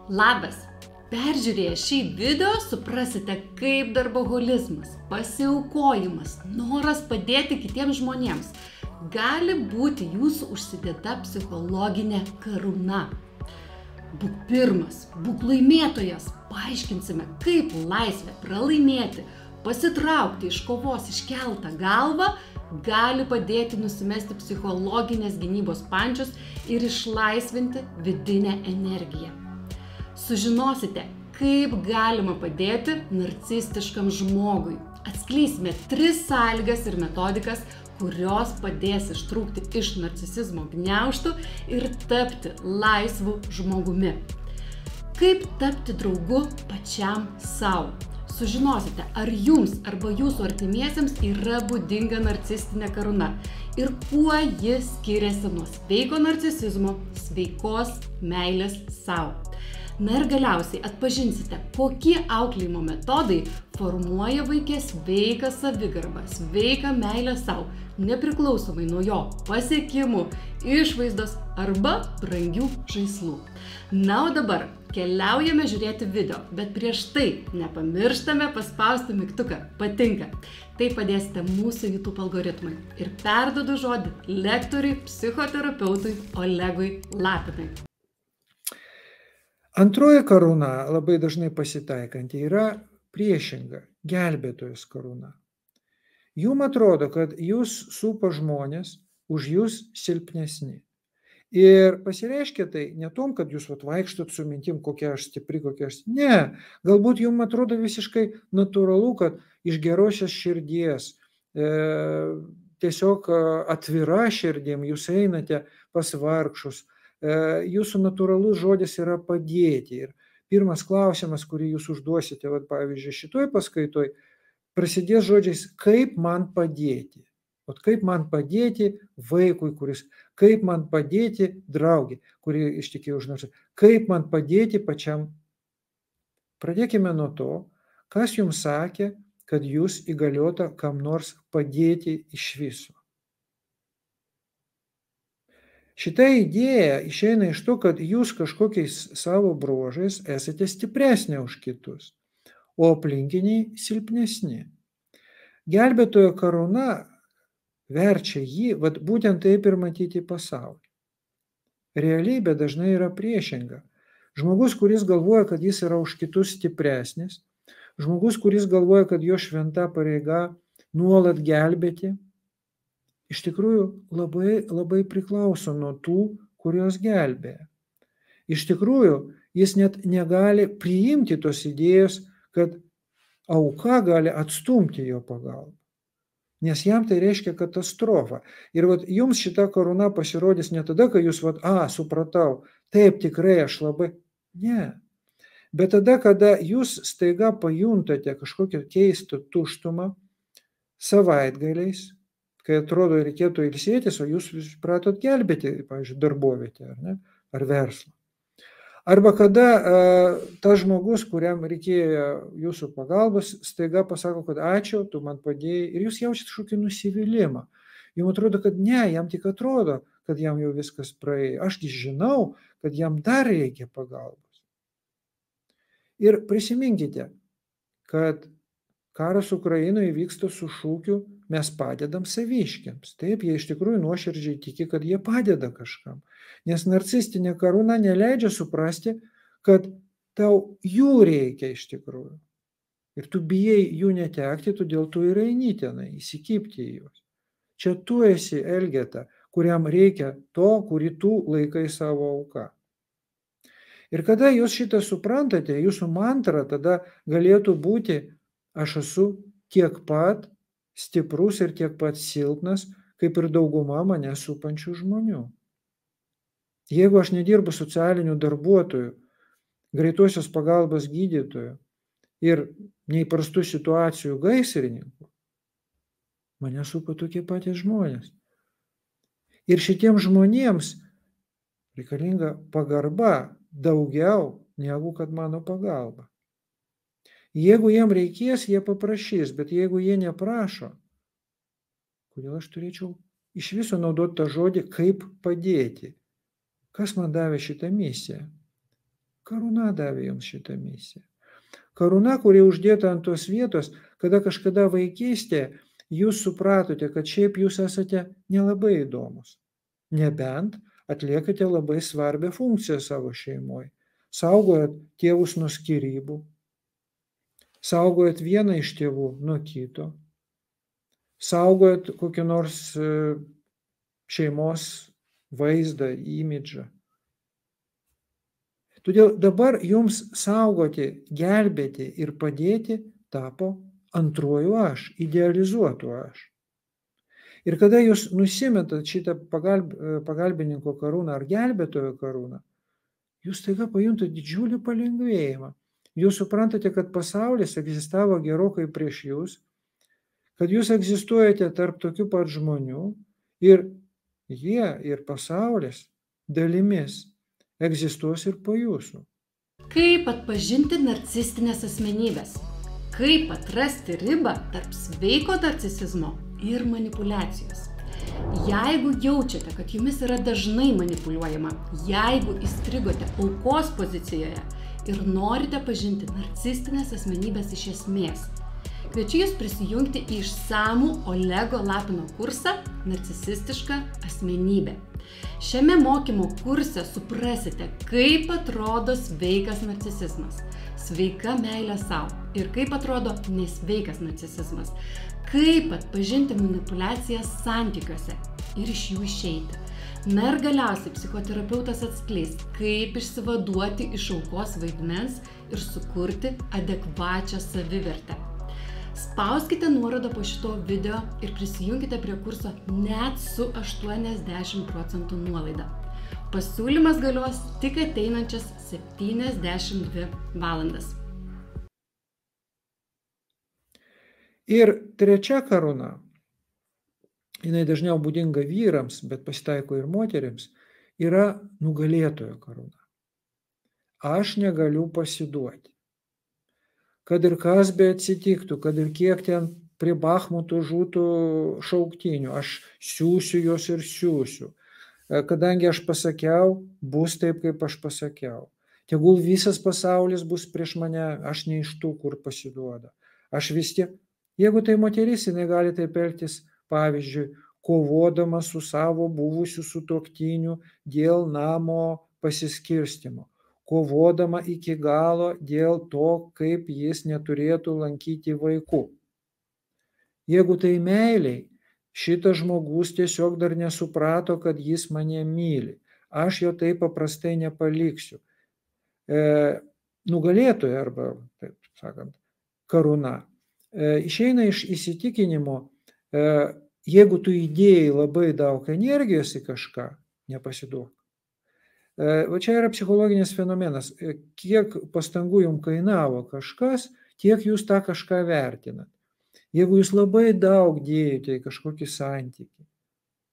Labas! Peržiūrėję šį video suprasite, kaip darboholizmas, pasiaukojimas, noras padėti kitiems žmonėms gali būti jūsų užsidėta psichologinė karūna. Būk pirmas, būk laimėtojas, paaiškinsime, kaip laisvę pralaimėti, pasitraukti iš kovos iškeltą galvą gali padėti nusimesti psichologinės gynybos pančius ir išlaisvinti vidinę energiją. Sužinosite, kaip galima padėti narcistiškam žmogui. Atskleisime 3 sąlygas ir metodikas, kurios padės ištrūkti iš narcisizmo gniaužtų ir tapti laisvu žmogumi. Kaip tapti draugu pačiam sau? Sužinosite, ar jums arba jūsų artimiesiems yra būdinga narcistinė karūna ir kuo ji skiriasi nuo sveiko narcisizmo, sveikos meilės sau. Na ir galiausiai atpažinsite, kokie auklėjimo metodai formuoja vaike sveiką savigarbą, sveiką meilę sau, nepriklausomai nuo jo pasiekimų, išvaizdos arba brangių žaislų. Na, o dabar keliaujame žiūrėti video, bet prieš tai nepamirštame paspausti mygtuką patinka. Tai padėsite mūsų YouTube algoritmui. Ir perduodu žodį lektoriui, psichoterapeutui Olegui Lapinui. Antroji karūna, labai dažnai pasitaikanti, yra priešinga, gelbėtojos karūna. Jums atrodo, kad jūs supa žmonės už jūs silpnesni. Ir pasireiškia tai ne tom, kad jūs vaikštot su mintim, kokia aš stipri, kokia aš... Ne, galbūt jums atrodo visiškai natūralu, kad iš gerosios širdies, tiesiog atvira širdim jūs einate pas vargšus. Jūsų natūralus žodis yra padėti. Ir pirmas klausimas, kurį jūs užduosite, pavyzdžiui, šitoj paskaitoj, prasidės žodžiais, kaip man padėti. Kaip man padėti vaikui, kaip man padėti draugį, kuri ištekėjo už nors, kaip man padėti pačiam. Pradėkime nuo to, kas jums sakė, kad jūs įgaliota kam nors padėti iš viso. Šita idėja išeina iš to, kad jūs kažkokiais savo bruožais esate stipresnė už kitus, o aplinkiniai silpnesni. Gelbėtojo karūna verčia jį būtent taip ir matyti pasaulį. Realybė dažnai yra priešinga. Žmogus, kuris galvoja, kad jis yra už kitus stipresnis, žmogus, kuris galvoja, kad jo šventa pareiga nuolat gelbėti, iš tikrųjų labai priklauso nuo tų, kurios gelbėja. Iš tikrųjų, jis net negali priimti tos idėjos, kad auka gali atstumti jo pagalbą. Nes jam tai reiškia katastrofą. Ir jums šita karūna pasirodys ne tada, kai jūs, supratau, taip tikrai aš labai... Ne. Bet tada, kada jūs staiga pajuntate kažkokią keistą tuštumą savaitgaliais, kai atrodo reikėtų ilsėtis, o jūs pratot gelbėti, pavyzdžiui, darbovietę ar verslą. Arba kada tas žmogus, kuriam reikėjo jūsų pagalbos, staiga pasako, kad ačiū, tu man padėjai, ir jūs jaučiate kažkokį nusivylimą. Jums atrodo, kad ne, jam tik atrodo, kad jam jau viskas praėjo. Aš žinau, kad jam dar reikia pagalbos. Ir prisiminkite, kad karas Ukrainoje vyksta su šūkiu mes padedam saviškiams. Taip, jie iš tikrųjų nuoširdžiai tiki, kad jie padeda kažkam. Nes narcistinė karūna neleidžia suprasti, kad tau jų reikia iš tikrųjų. Ir tu bijai jų netekti, todėl tu ir eini tenai, įsikibti į juos. Čia tu esi Elgeta, kuriam reikia to, kurį tu laikai savo auka. Ir kada jūs šitą suprantate, jūsų mantra tada galėtų būti, aš esu tiek pat stiprus ir tiek pat silpnas, kaip ir dauguma mane supančių žmonių. Jeigu aš nedirbu socialinių darbuotojų, greitosios pagalbos gydytojų ir neįprastų situacijų gaisrininkų, mane supa tokie patys žmonės. Ir šitiems žmonėms reikalinga pagarba daugiau negu kad mano pagalba. Jeigu jiem reikės, jie paprašys, bet jeigu jie neprašo, kodėl aš turėčiau iš viso naudoti tą žodį kaip padėti? Kas man davė šitą misiją? Karūna davė jums šitą misiją. Karūna, kuri uždėta ant tos vietos, kada kažkada vaikystėje jūs supratote, kad šiaip jūs esate nelabai įdomus. Nebent atliekate labai svarbią funkciją savo šeimoje. Saugojat tėvus nuo skyrybų, saugojat vieną iš tėvų nuo kito, saugojat kokį nors šeimos vaizdą, imidžą. Todėl dabar jums saugoti, gelbėti ir padėti tapo antruoju aš, idealizuotu aš. Ir kada jūs nusimetat šitą pagalbininko karūną ar gelbėtojo karūną, jūs staiga pajuntate didžiulį palengvėjimą. Jūs suprantate, kad pasaulis egzistavo gerokai prieš jūs, kad jūs egzistuojate tarp tokių pat žmonių ir jie ir pasaulis dalimis egzistuos ir po jūsų. Kaip atpažinti narcistinės asmenybės? Kaip atrasti ribą tarp sveiko narcisizmo ir manipulacijos? Jeigu jaučiate, kad jumis yra dažnai manipuliuojama, jeigu įstrigote aukos pozicijoje ir norite pažinti narcistinės asmenybės iš esmės, kviečiu jūs prisijungti į išsamų Olego Lapino kursą Narcisistiška asmenybė. Šiame mokymo kurse suprasite, kaip atrodo sveikas narcisizmas, sveika meilė savo ir kaip atrodo nesveikas narcisizmas, kaip atpažinti manipulacijas santykiuose ir iš jų išeiti. Na ir galiausiai psichoterapeutas atskleis, kaip išsivaduoti iš aukos vaidmens ir sukurti adekvačią savivertę. Spauskite nuorodą po šito video ir prisijunkite prie kurso net su 80% nuolaida. Pasiūlymas galios tik ateinančias 72 valandas. Ir trečia karūna, jinai dažniau būdinga vyrams, bet pasitaiko ir moterims, yra nugalėtojo karūna. Aš negaliu pasiduoti. Kad ir kas be atsitiktų, kad ir kiek ten prie Bachmuto žūtų šauktinių, aš siūsiu juos ir siūsiu. Kadangi aš pasakiau, bus taip, kaip aš pasakiau. Tegul visas pasaulis bus prieš mane, aš ne iš tų, kur pasiduoda. Aš vis tiek, jeigu tai moteris, jinai gali taip elgtis, pavyzdžiui, kovodama su savo buvusiu sutuoktiniu dėl namo pasiskirstimo. Kovodama iki galo dėl to, kaip jis neturėtų lankyti vaikų. Jeigu tai meiliai, šitas žmogus tiesiog dar nesuprato, kad jis mane myli. Aš jo taip paprastai nepaliksiu. Nugalėtoja arba, taip sakant, karūna. Išeina iš įsitikinimo, jeigu tu įdėjai labai daug energijos į kažką, nepasiduok. Va čia yra psichologinis fenomenas. Kiek pastangų jums kainavo kažkas, tiek jūs tą kažką vertinat. Jeigu jūs labai daug dėjote į kažkokį santykį,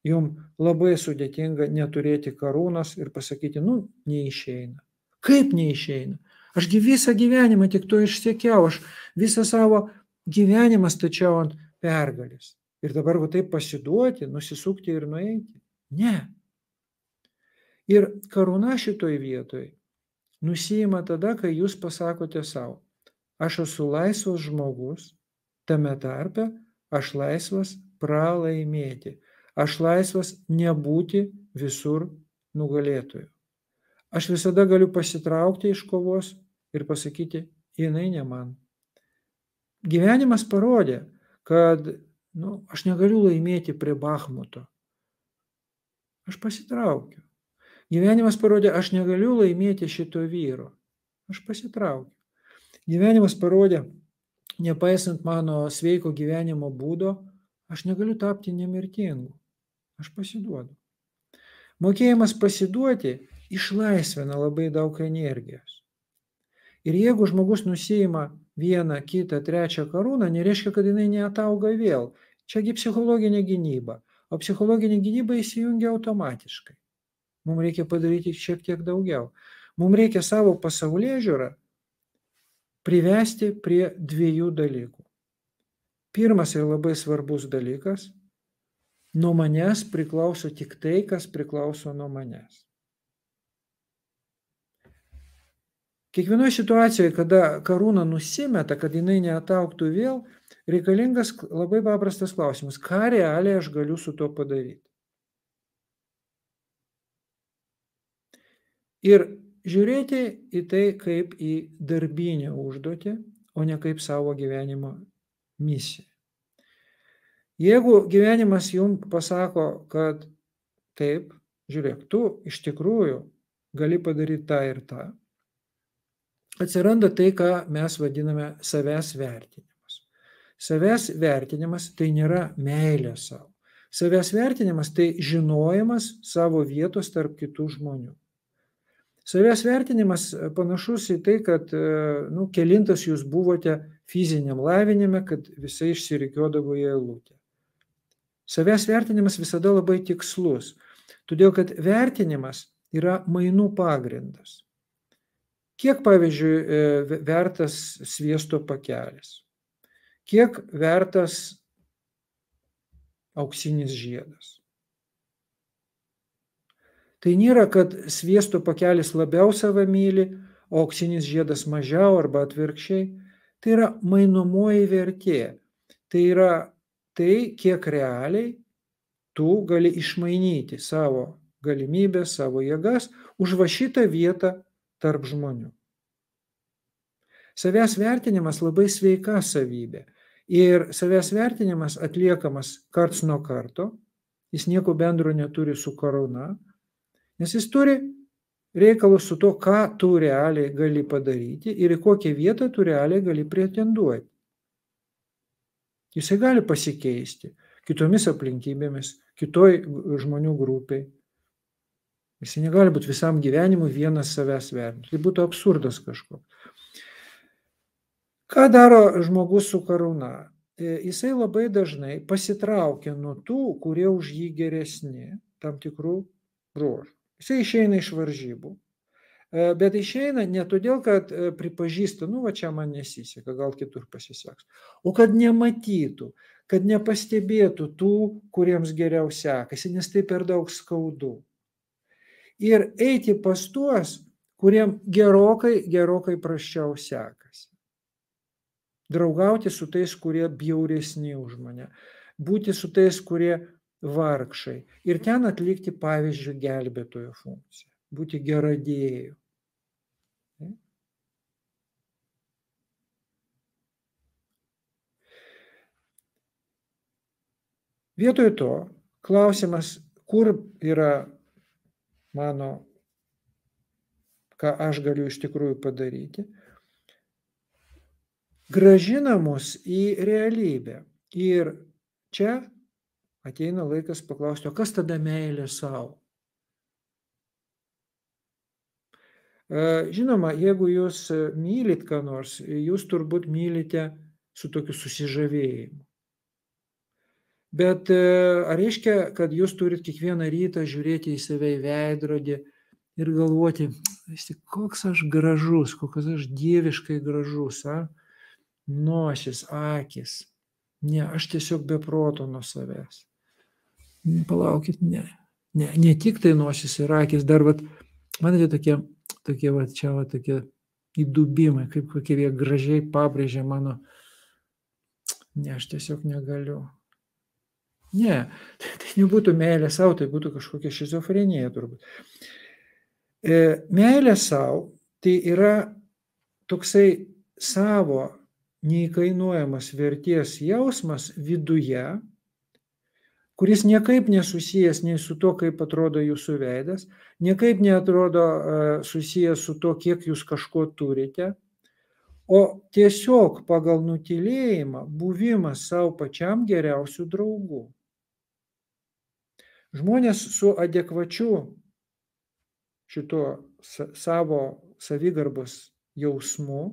jums labai sudėtinga neturėti karūnos ir pasakyti, neišeina. Kaip neišeina? Ašgi visą gyvenimą tik to išsiekiau, aš visą savo gyvenimą stačiau ant pergalės. Ir dabar va taip pasiduoti, nusisukti ir nueiti? Ne. Ir karūna šitoj vietoj nusiima tada, kai jūs pasakote savo, aš esu laisvas žmogus, tame tarpe aš laisvas pralaimėti, aš laisvas nebūti visur nugalėtoju. Aš visada galiu pasitraukti iš kovos ir pasakyti, jinai ne man. Gyvenimas parodė, kad aš negaliu laimėti prie Bachmuto. Aš pasitraukiu. Gyvenimas parodė, aš negaliu laimėti šito vyro. Aš pasitraukiu. Gyvenimas parodė, nepaisant mano sveiko gyvenimo būdo, aš negaliu tapti nemirtingu. Aš pasiduodu. Mokėjimas pasiduoti išlaisvina labai daug energijos. Ir jeigu žmogus nusiima vieną, kitą, trečią karūną, nereiškia, kad jinai neatauga vėl. Čiagi psichologinė gynyba. O psichologinė gynyba įsijungia automatiškai. Mums reikia padaryti šiek tiek daugiau. Mums reikia savo pasaulėžiūrą privesti prie dviejų dalykų. Pirmas ir labai svarbus dalykas, nuo manęs priklauso tik tai, kas priklauso nuo manęs. Kiekvienoje situacijoje, kada karūna nusimeta, kad jinai neataugtų vėl, reikalingas labai paprastas klausimas, ką realiai aš galiu su tuo padaryti. Ir žiūrėti į tai kaip į darbinę užduotį, o ne kaip savo gyvenimo misiją. Jeigu gyvenimas jums pasako, kad taip, žiūrėk, tu iš tikrųjų gali padaryti tą ir tą, atsiranda tai, ką mes vadiname savęs vertinimas. Savęs vertinimas tai nėra meilė savo. Savęs vertinimas tai žinojimas savo vietos tarp kitų žmonių. Savęs vertinimas panašus į tai, kad kelintas jūs buvote fiziniam lavinime, kad visai išsirikiuodavo į eilutę. Savęs vertinimas visada labai tikslus, todėl kad vertinimas yra mainų pagrindas. Kiek, pavyzdžiui, vertas sviesto pakelis? Kiek vertas auksinis žiedas? Tai nėra, kad sviesto pakelis labiau save myli, o auksinis žiedas mažiau arba atvirkščiai. Tai yra mainomoji vertė. Tai yra tai, kiek realiai tu gali išmainyti savo galimybės, savo jėgas už va šitą vietą tarp žmonių. Savęs vertinimas labai sveika savybė. Ir savęs vertinimas atliekamas karts nuo karto. Jis nieko bendro neturi su karūna, nes jis turi reikalus su to, ką tu realiai gali padaryti ir į kokią vietą tu realiai gali pretenduoti. Jisai gali pasikeisti kitomis aplinkybėmis, kitoj žmonių grupiai. Jisai negali būti visam gyvenimui vienas savęs vertinimas. Tai būtų absurdas kažkoks. Ką daro žmogus su karūna? Jisai labai dažnai pasitraukia nuo tų, kurie už jį geresni, tam tikrų bruožų. Jisai išeina iš varžybų. Bet išeina ne todėl, kad pripažįsta, va čia man nesiseka, gal kitur pasiseks, o kad nematytų, kad nepastebėtų tų, kuriems geriau sekasi, nes tai per daug skaudu. Ir eiti pas tuos, kuriem gerokai prasčiau sekasi. Draugauti su tais, kurie bjauresni už mane. Būti su tais, kurie vargšai. Ir ten atlikti, pavyzdžiui, gelbėtojo funkciją. Būti geradėju. Vietoj to klausimas, kur yra mano, ką aš galiu iš tikrųjų padaryti, grąžina mus į realybę. Ir čia ateina laikas paklausti, o kas tada meilė savo? Žinoma, jeigu jūs mylit ką nors, jūs turbūt mylite su tokiu susižavėjimu. Bet ar reiškia, kad jūs turit kiekvieną rytą žiūrėti į save į veidrodį ir galvoti, koks aš gražus, koks aš dieviškai gražus, nosis, akis. Ne, aš tiesiog be proto nuo savęs. Palaukit, ne tik tai nosis ir akis, dar manote, tokie tokie įdubimai, kaip kokie jie gražiai pabrėžia mano, aš tiesiog negaliu. Ne, tai nebūtų meilė savo, tai būtų kažkokia šizofrenija turbūt. Meilė savo tai yra toksai savo neįkainuojamas vertės jausmas viduje, kuris niekaip nesusijęs nei su to, kaip atrodo jūsų veidas, niekaip neatrodo susijęs su to, kiek jūs kažko turite, o tiesiog pagal nutylėjimą buvimas savo pačiam geriausių draugų. Žmonės su adekvačiu šito savo savigarbos jausmu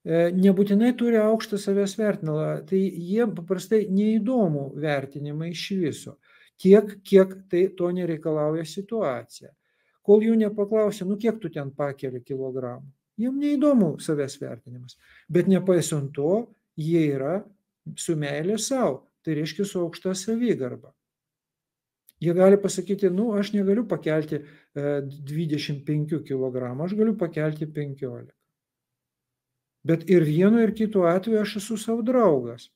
nebūtinai turi aukštą savęs vertinimą, tai jie paprastai neįdomų vertinimą iš viso, tiek, kiek tai to nereikalauja situacija. Kol jų nepaklausia, kiek tu ten pakeli kilogramų, jiem neįdomų savęs vertinimas, bet nepaisant to, jie yra su meilė savo, tai reiškia su aukšta savigarba. Jie gali pasakyti, nu, aš negaliu pakelti 25 kg, aš galiu pakelti 15. Bet ir vienu ir kitu atveju aš esu savo draugas.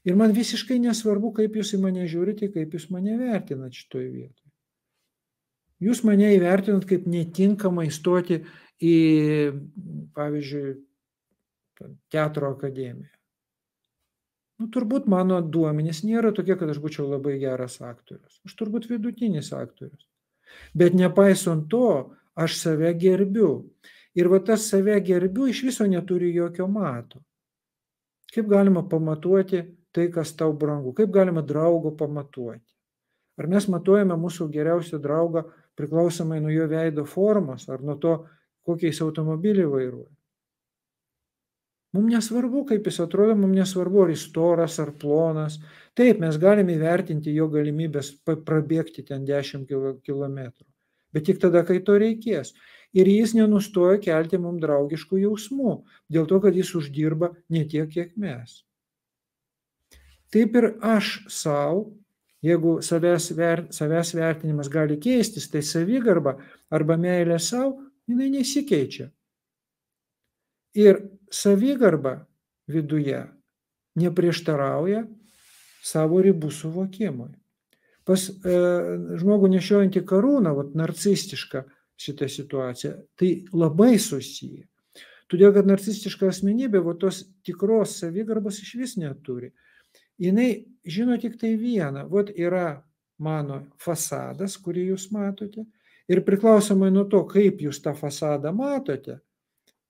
Ir man visiškai nesvarbu, kaip jūs į mane žiūrite, kaip jūs mane vertinat šitoje vietoje. Jūs mane įvertinat kaip netinkamai stoti į, pavyzdžiui, teatro akademiją. Nu, turbūt mano duomenys nėra tokie, kad aš būčiau labai geras aktorius. Aš turbūt vidutinis aktorius. Bet nepaisant to, aš save gerbiu. Ir va tas save gerbiu iš viso neturi jokio mato. Kaip galima pamatuoti tai, kas tau brangu? Kaip galima draugo pamatuoti? Ar mes matuojame mūsų geriausią draugą priklausomai nuo jo veido formos, ar nuo to, kokiais automobilį vairuoja? Mums nesvarbu, kaip jis atrodo, mums nesvarbu, ar jis storas, ar plonas. Taip, mes galime įvertinti jo galimybės prabėgti ten 10 kilometrų. Bet tik tada, kai to reikės. Ir jis nenustoja kelti mums draugiškų jausmų, dėl to, kad jis uždirba ne tiek, kiek mes. Taip ir aš savo, jeigu savęs vertinimas gali keistis, tai savigarba arba meilė savo, jinai nesikeičia. Ir savigarba viduje neprieštarauja savo ribų suvokimui. Pas žmogų nešiojantį karūną, narcistišką šitą situaciją, tai labai susiję. Todėl, kad narcistiška asmenybė tos tikros savigarbos iš vis neturi. Jinai žino tik tai vieną, yra mano fasadas, kurį jūs matote, ir priklausomai nuo to, kaip jūs tą fasadą matote,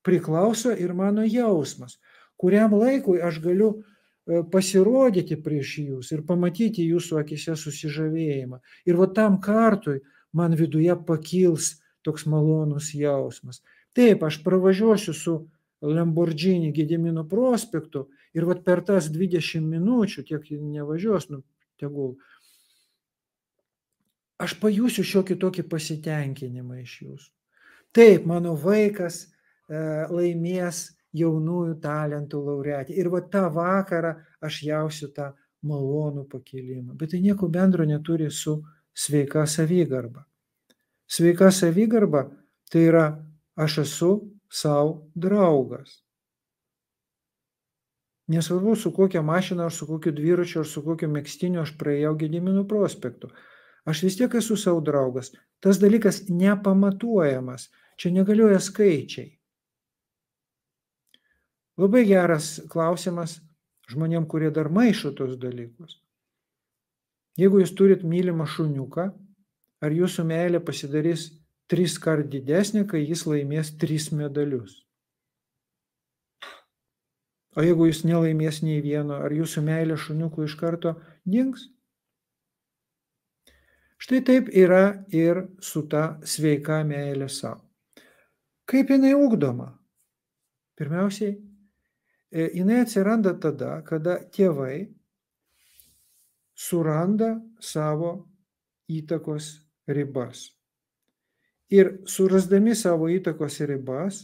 priklauso ir mano jausmas, kuriam laikui aš galiu pasirodyti prieš jūs ir pamatyti jūsų akise susižavėjimą. Ir tam kartui man viduje pakils toks malonus jausmas. Taip, aš pravažiuosiu su Lamborghini Gedimino prospektu ir per tas 20 minučių, tiek nevažiuos, tegul, aš pajusiu šiokį tokį pasitenkinimą iš jūsų. Taip, mano vaikas laimės jaunųjų talentų laureatė. Ir tą vakarą aš jausiu tą malonų pakilimą. Bet tai nieko bendro neturi su sveika savigarba. Sveika savigarba tai yra aš esu savo draugas. Nesvarbu, su kokia mašina, ar su kokiu dviračiu, ar su kokiu megztiniu aš praėjau Gedimino prospektu. Aš vis tiek esu savo draugas. Tas dalykas nepamatuojamas. Čia negalioja skaičiai. Labai geras klausimas žmonėm, kurie dar maišo tos dalykus. Jeigu jūs turit mylimą šuniuką, ar jūsų meilė pasidarys 3 kart didesnė, kai jis laimės 3 medalius? O jeigu jis nelaimės nei vieno, ar jūsų meilė šuniukui iš karto dings? Štai taip yra ir su ta sveika meilė savo. Kaip jinai ugdoma? Pirmiausiai, jinai atsiranda tada, kada tėvai suranda savo įtakos ribas. Ir surasdami savo įtakos ribas,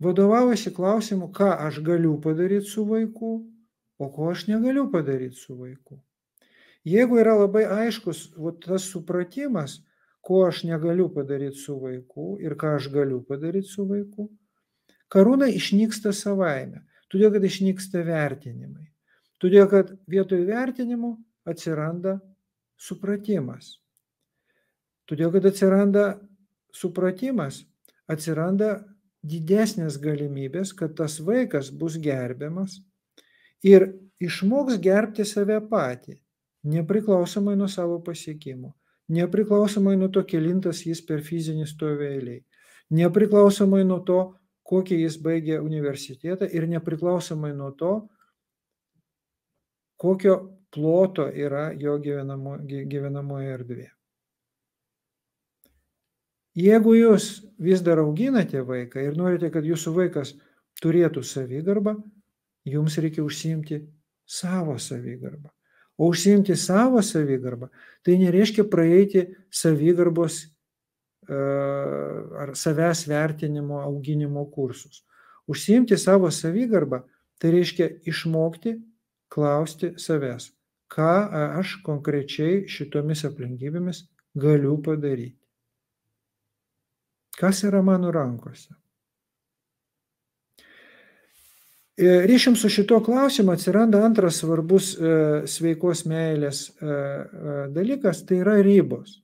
vadovaujasi klausimu, ką aš galiu padaryti su vaiku, o ko aš negaliu padaryti su vaiku. Jeigu yra labai aiškus tas supratimas, ko aš negaliu padaryti su vaiku ir ką aš galiu padaryti su vaiku, karūna išnyksta savaime, todėl kad išnyksta vertinimai. Todėl kad vietoj vertinimų atsiranda supratimas. Todėl kad atsiranda supratimas, atsiranda didesnės galimybės, kad tas vaikas bus gerbiamas ir išmoks gerbti save patį, nepriklausomai nuo savo pasiekimų, nepriklausomai nuo to, kelintas jis per fizinį stovi eilėj, nepriklausomai nuo to, kokį jis baigė universitetą ir nepriklausomai nuo to, kokio ploto yra jo gyvenamoji erdvė. Jeigu jūs vis dar auginate vaiką ir norite, kad jūsų vaikas turėtų savigarbą, jums reikia užsiimti savo savigarbą. O užsiimti savo savigarbą, tai nereiškia praeiti savigarbos ar savęs vertinimo, auginimo kursus. Užsiimti savo savigarbą, tai reiškia išmokti klausti savęs, ką aš konkrečiai šitomis aplinkybėmis galiu padaryti. Kas yra mano rankose? Ryšium su šito klausimu atsiranda antras svarbus sveikos meilės dalykas, tai yra ribos.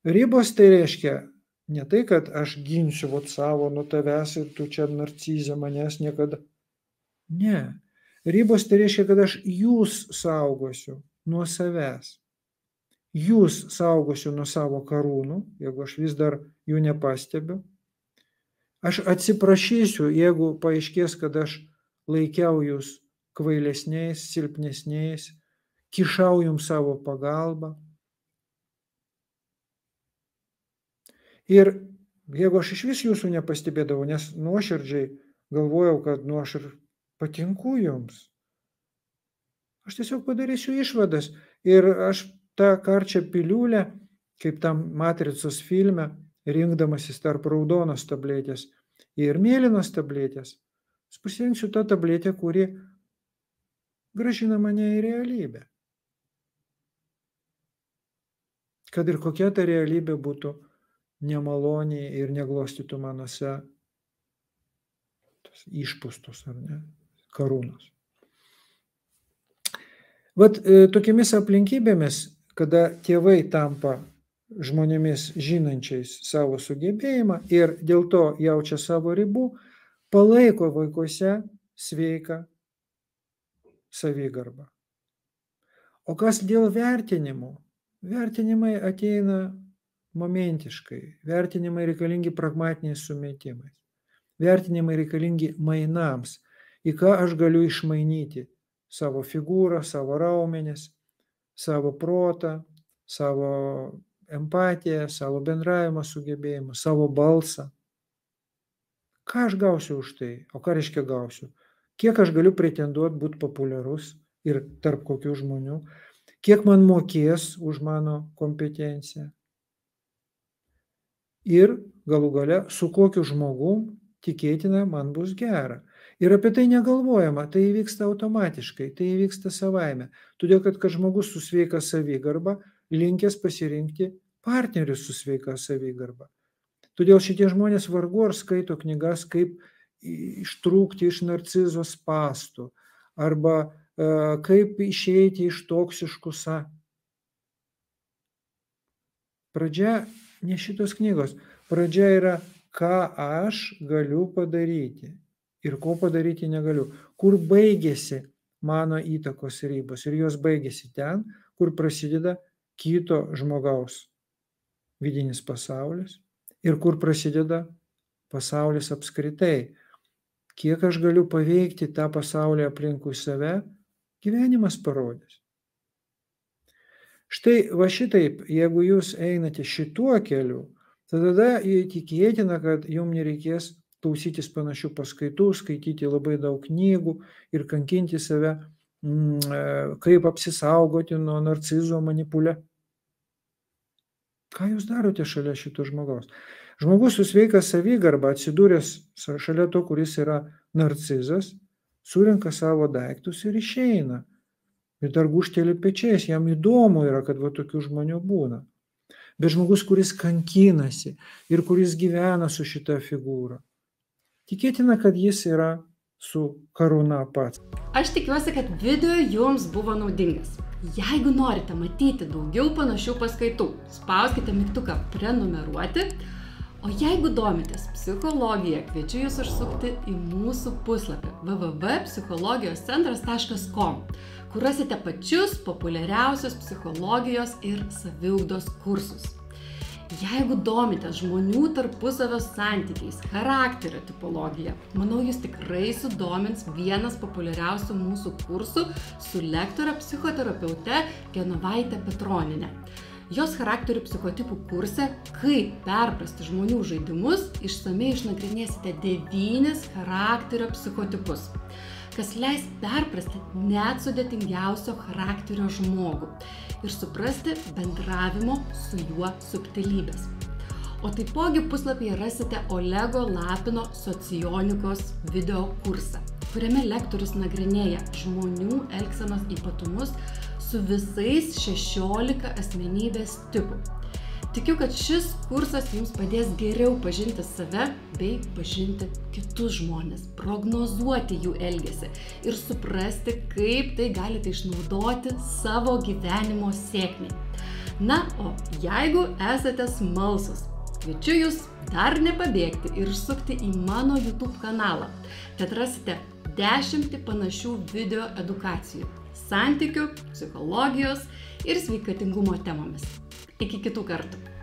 Ribos tai reiškia ne tai, kad aš ginsiu savo nuo tavęs ir tu čia narcizė manęs niekada. Ne. Ribos tai reiškia, kad aš jūs saugosiu nuo savęs. Jūs saugosiu nuo savo karūnų, jeigu aš vis dar jų nepastebiu. Aš atsiprašysiu, jeigu paaiškės, kad aš laikiau jūs kvailesniais, silpnesniais, kišau jums savo pagalbą. Ir jeigu aš iš vis jūsų nepastebėdavau, nes nuoširdžiai galvojau, kad aš ir patinku jums, aš tiesiog padarysiu išvadas ir aš tą karčią piliulę, kaip tam Matricos filme, rinkdamasis tarp raudonos tabletės ir mėlynos tabletės, pasirinksiu tą tabletę, kuri grąžina mane į realybę. Kad ir kokia ta realybė būtų nemaloniai ir neglostytų manose išpūstos, ar ne, karūnos. Vat tokiamis aplinkybėmis, kada tėvai tampa žmonėmis žinančiais savo sugebėjimą ir dėl to jaučia savo ribų, palaiko vaikuose sveiką savigarbą. O kas dėl vertinimų? Vertinimai ateina momentiškai, vertinimai reikalingi pragmatiniais sumetimais, vertinimai reikalingi mainams, į ką aš galiu išmainyti savo figūrą, savo raumenis, savo protą, savo empatiją, savo bendravimo sugebėjimą, savo balsą. Ką aš gausiu už tai? O ką reiškia gausiu? Kiek aš galiu pretenduoti būti populiarus ir tarp kokių žmonių? Kiek man mokės už mano kompetenciją? Ir galų gale, su kokiu žmogum tikėtina man bus gera. Ir apie tai negalvojama, tai įvyksta automatiškai, tai įvyksta savaime. Todėl, kad žmogus su sveika savigarba linkęs pasirinkti partnerius su sveika savigarba. Todėl šitie žmonės vargu ar skaito knygas, kaip ištrūkti iš narcizo spastų, arba kaip išeiti iš toksiškų Pradžia ne šitos knygos. Pradžia yra, ką aš galiu padaryti ir ko padaryti negaliu. Kur baigėsi mano įtakos ribos. Ir jos baigėsi ten, kur prasideda kito žmogaus vidinis pasaulis ir kur prasideda pasaulis apskritai. Kiek aš galiu paveikti tą pasaulį aplinkui save, gyvenimas parodys. Štai va šitaip, jeigu jūs einate šituo keliu, tada tikėtina, kad jums nereikės klausytis panašių paskaitų, skaityti labai daug knygų ir kankinti save, kaip apsisaugoti nuo narcizo manipulę. Ką jūs darote šalia šito žmogaus? Žmogus su sveika savigarba, atsidūręs šalia to, kuris yra narcizas, surenka savo daiktus ir išeina. Ir dar gūžteli pečiais, jam įdomu yra, kad va tokių žmonių būna. Bet žmogus, kuris kankinasi ir kuris gyvena su šita figūra, tikėtina, kad jis yra su karūna pats. Aš tikiuosi, kad video jums buvo naudingas. Jeigu norite matyti daugiau panašių paskaitų, spauskite mygtuką prenumeruoti. O jeigu domitės psichologija, kviečiu jūs užsukti į mūsų puslapį www.psichologijoscentras.com, kur rasite pačius populiariausius psichologijos ir saviugdos kursus. Jeigu domitės žmonių tarpusavio santykiais, charakterio tipologija, manau, jūs tikrai sudomins vienas populiariausių mūsų kursų su lektore psichoterapeute Genovaite Petroniene. Jos charakterių psichotipų kurse Kaip perprasti žmonių žaidimus išsamiai išnagrinėsite 9 charakterio psichotipus, kas leis perprasti net sudėtingiausio charakterio žmogų ir suprasti bendravimo su juo subtilybės. O taipogi puslapyje rasite Olego Lapino socionikos video kursą. kuriame lektorius nagrinėja žmonių elgsenos ypatumus su visais 16 asmenybės tipų. Tikiu, kad šis kursas jums padės geriau pažinti save bei pažinti kitus žmones, prognozuoti jų elgesį ir suprasti, kaip tai galite išnaudoti savo gyvenimo sėkmei. Na, o jeigu esate smalsus, kviečiu jūs dar nepabėgti ir užsukti į mano YouTube kanalą. Tad rasite 10 panašių video edukacijų santykių, psichologijos ir sveikatingumo temomis. Iki kitų kartų.